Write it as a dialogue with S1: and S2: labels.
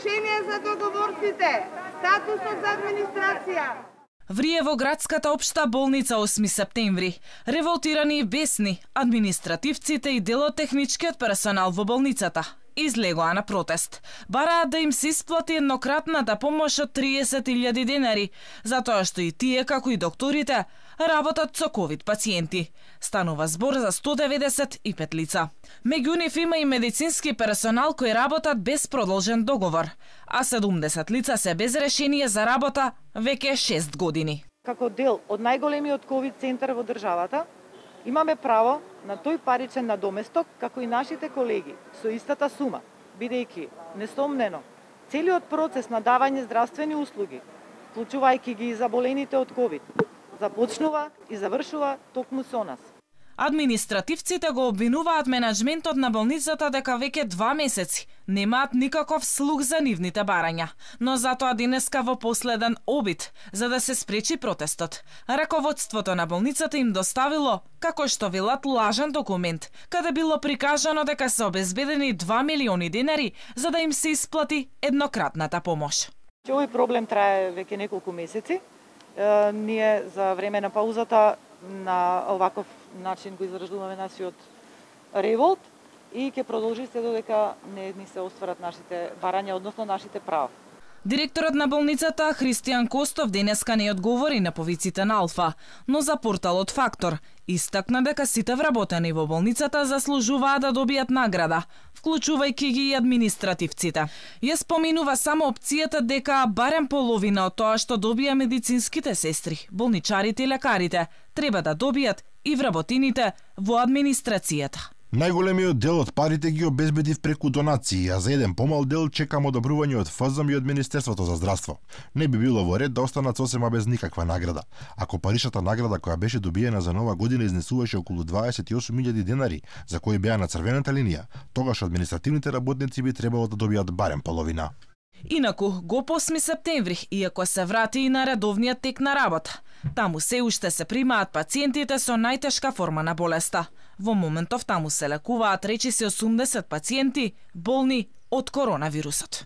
S1: решение за договорците, статусот за администрација.
S2: Врие во градската општа болница 8 септември. Револтирани и бесни, административците и дел од техничкиот персонал во болницата излегоа на протест. Бараат да им се исплати еднократната помош од 30.000 денари, затоа што и тие, како и докторите, работат со ковид пациенти. Станува збор за 195 лица. Меѓу нив има и медицински персонал кои работат без продолжен договор, а 70 лица се без решение за работа веќе 6 години.
S3: Како дел од најголемиот ковид центар во државата, имаме право на тој паричен надоместок како и нашите колеги со истата сума, бидејќи несомнено целиот процес на давање здравствени услуги, вклучувајќи ги и заболените од ковид, започнува и завршува токму со нас.
S2: Административците го обвинуваат менаџментот на болницата дека веќе 2 месеци немаат никаков слух за нивните барања, но затоа денеска во последен обид за да се спречи протестот, раководството на болницата им доставило, како што велат, лажен документ, каде било прикажано дека се обезбедени 2 милиони денари за да им се исплати еднократната помош.
S3: Овој проблем трае веќе неколку месеци. Ние за време на паузата на оваков начин го изражуваме нашиот револт и ќе продолжи се додека не ни се остварат нашите барања, односно нашите права.
S2: Директорот на болницата Христијан Костов денеска не одговори на повиците на Алфа, но за порталот Фактор истакна дека сите вработени во болницата заслужуваат да добијат награда, вклучувајќи ги и административците. Ја споминува само опцијата дека барем половина од тоа што добија медицинските сестри, болничарите и лекарите, треба да добијат и вработените во администрацијата.
S4: Најголемиот дел од парите ги обезбедив преку донации, а за еден помал дел чекам одобрување од ФЗМ и од Министерството за здравство. Не би било во ред да останат сосема без никаква награда. Ако паричната награда која беше добиена за нова година изнесуваше околу 28.000 денари, за кои беа на црвената линија, тогаш административните работници би требало да добијат барем половина.
S2: Инаку, го 8 септември, иако се врати и на редовниот тек на работа, таму се уште се примаат пациентите со најтешка форма на болеста. Во моментов таму се лекуваат речиси 80 пациенти болни од коронавирусот.